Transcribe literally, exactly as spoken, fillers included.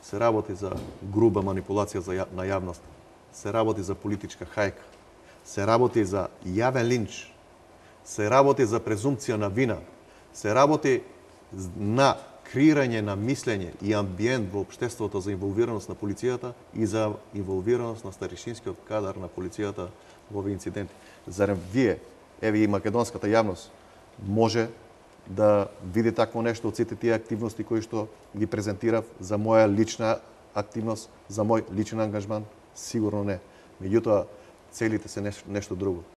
се работи за груба манипулација за ја, на јавност, се работи за политичка хајка, се работи за јавен линч, се работи за презумпција на вина, се работи на креирање на мислење и амбиент во општеството за инволвираност на полицијата и за инволвираност на старишинскиот кадар на полицијата во овие инциденти. Зарем вие, еве и македонската јавност, може да види такво нешто од сите тие активности кои што ги презентирав за моја лична активност, за мој личен ангажман? Сигурно не. Меѓутоа, целите се нешто друго.